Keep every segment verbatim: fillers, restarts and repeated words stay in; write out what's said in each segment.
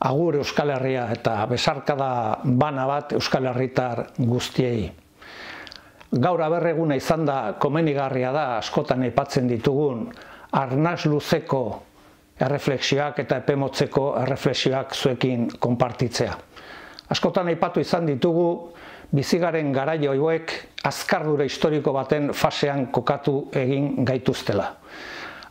Agur Euskal Herria eta besarkada bana bat Euskal Herritar guztiei. Gaur aberreguna izan da komenigarria da askotan aipatzen ditugun arnas luzeko erreflexioak eta epemotzeko erreflexioak zuekin konpartitzea. Askotan aipatu izan ditugu bizigaren garaio hauek azkardura historiko baten fasean kokatu egin gaituztela.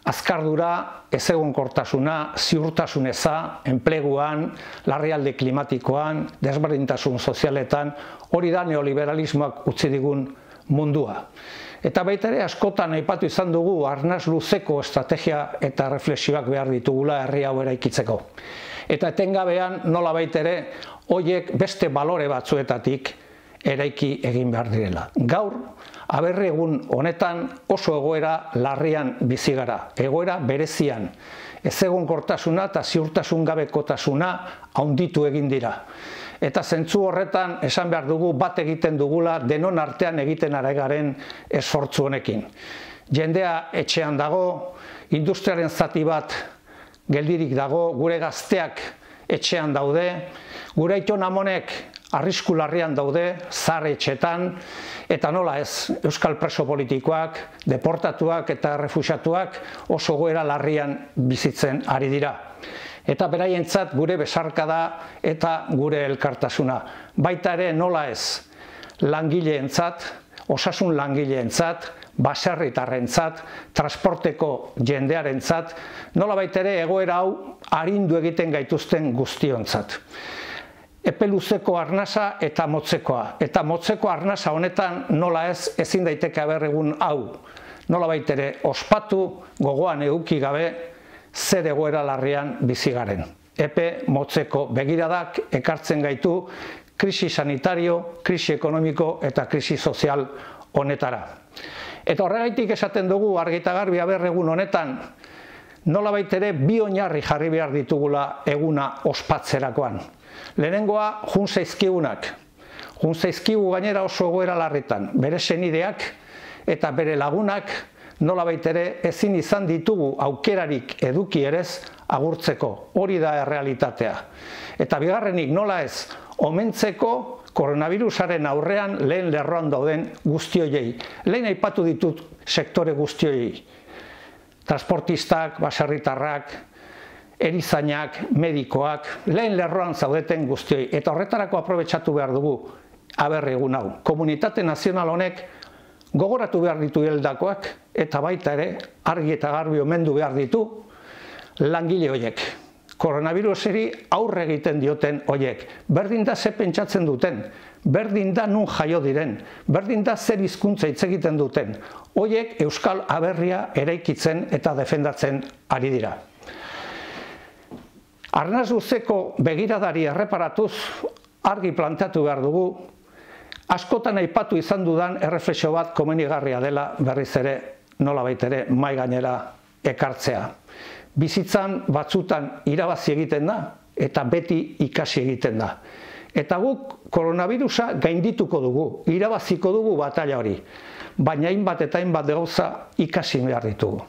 Azkardura, ezegonkortasuna, ziurtasun eza, enpleguan, larrialdi klimatikoan, desberdintasun sozialetan, hori da neoliberalismoak utzi digun mundua. Eta baita ere askotan aipatu izan dugu arnas luzeko estrategia eta reflexioak behar ditugula herri hau eraikitzeko. Eta etengabean nola baita ere horiek beste balore batzuetatik eraiki egin behar direla. Gaur, aberregun honetan oso egoera larrian bizi gara, egoera berezian, ezegonkortasuna eta ziurtasun gabekotasuna handitu egin dira. Eta zentzu horretan esan behar dugu bat egiten dugula denon artean egiten ari garen esfortzu honekin. Jendea etxean dago, industriaren zati bat geldirik dago, gure gazteak etxean daude, gure aiton amonek arrisku larrian daude, zahar etxetan, eta nola ez, euskal preso politikoak, deportatuak eta refuxiatuak oso goera larrian bizitzen ari dira. Eta beraientzat gure besarkada eta gure elkartasuna. Baita ere nola ez, langileentzat, osasun langileentzat, baserritarrentzat, transporteko jendearentzat, nola baita ere egoera hau arindu egiten gaituzten guztiontzat. Epe luzeko arnasa eta motzekoa. Eta motzeko arnasa honetan nola ez ezin daiteke aberregun hau. Nola baitere ospatu gogoan eduki gabe zer egoera larrian bizi garen. Epe motzeko begiradak ekartzen gaitu krisi sanitario, krisi ekonomiko eta krisi sozial honetara. Eta horregaitik esaten dugu argi eta garbi aberregun honetan nola baitere bi oinarri jarri behar ditugula eguna ospatzerakoan. Lehenengoa, jun zaizkigunak. Jun zaizkigu gainera oso egoera larritan. Bere senideak eta bere lagunak nola baitere ezin izan ditugu aukerarik eduki erez agurtzeko. Hori da errealitatea. Eta bigarrenik nola ez, omentzeko koronavirusaren aurrean lehen lerroan dauden guztioiei. Lehen aipatu ditut sektore guztioiei. Transportistak, baserritarrak, erizainak, medikoak, lehen lerroan zaudeten guztioi. Eta horretarako aprobetxatu behar dugu aberregun hau. Komunitate nazional honek gogoratu behar ditu hildakoak eta baita ere argi eta garbi omendu behar ditu langile horiek. Koronaviruseri aurre egiten dioten horiek. Berdin da ze pentsatzen duten, berdin da nun jaio diren, berdin da zer hizkuntza hitz egiten duten. Horiek Euskal Aberria eraikitzen eta defendatzen ari dira. Arnas luzeko begiradari erreparatuz argi planteatu behar dugu, askotan aipatu izan dudan erreflexio bat komenigarria dela berriz ere nola baitere mai gainera ekartzea. Bizitzan batzutan irabazi egiten da eta beti ikasi egiten da. Eta guk koronavirusa gaindituko dugu, irabaziko dugu batalla hori, baina hainbat eta hainbat gauza ikasi behar ditugu.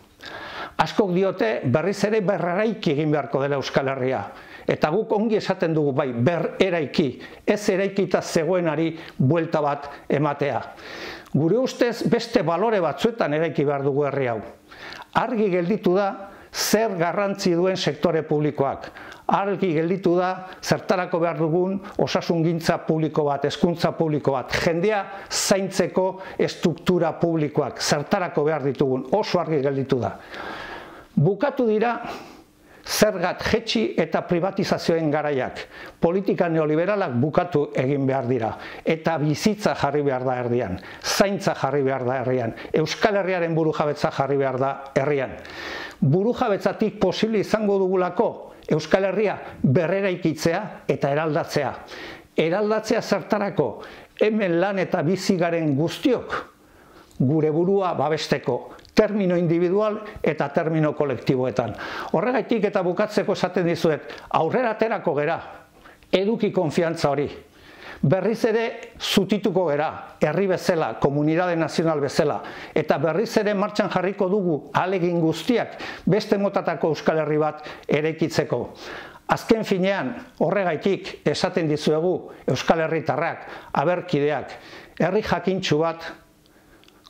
Askok diote berriz ere berreraiki egin beharko dela Euskal Herria. Eta guk ongi esaten dugu bai, berreraiki, ez eraikita zegoenari buelta bat ematea. Gure ustez beste balore batzuetan eraiki behar dugu herri hau. Argi gelditu da zer garrantzi duen sektore publikoak. Argi gelditu da zertarako behar dugun osasungintza publiko bat, hezkuntza publiko bat, jendea zaintzeko estruktura publikoak, zertarako behar ditugun, oso argi gelditu da. Bukatu dira zergat jetxi eta privatizazioen garaiak. Politika neoliberalak bukatu egin behar dira. Eta bizitza jarri behar da herrian. Zaintza jarri behar da herrian. Euskal Herriaren burujabetza jarri behar da herrian. Burujabetzatik posible izango dugulako Euskal Herria berreraikitzea eta eraldatzea. Eraldatzea zertarako hemen lan eta bizi garen guztiok gure burua babesteko. Termino individual eta termino kolektiboetan. Horregaitik eta bukatzeko esaten dizuet, aurrera aterako gera, eduki konfiantza hori. Berriz ere zutituko gera, herri bezala, komunitate nazional bezala, eta berriz ere martxan jarriko dugu ahalegin guztiak beste motatako Euskal Herri bat eraikitzeko. Azken finean, horregaitik esaten dizuegu Euskal Herritarrak, aberkideak, herri jakintsu bat,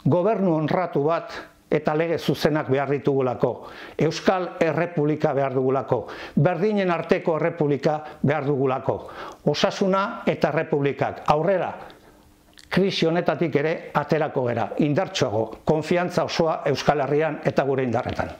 gobernu honratu bat eta lege zuzenak behar ditugulako. Euskal Errepublika behar dugulako. Berdinen arteko errepublika behar dugulako. Osasuna eta errepublikak. Aurrera, krisi honetatik ere aterako gera. Indartsuago, konfiantza osoa Euskal Herrian eta gure indarretan.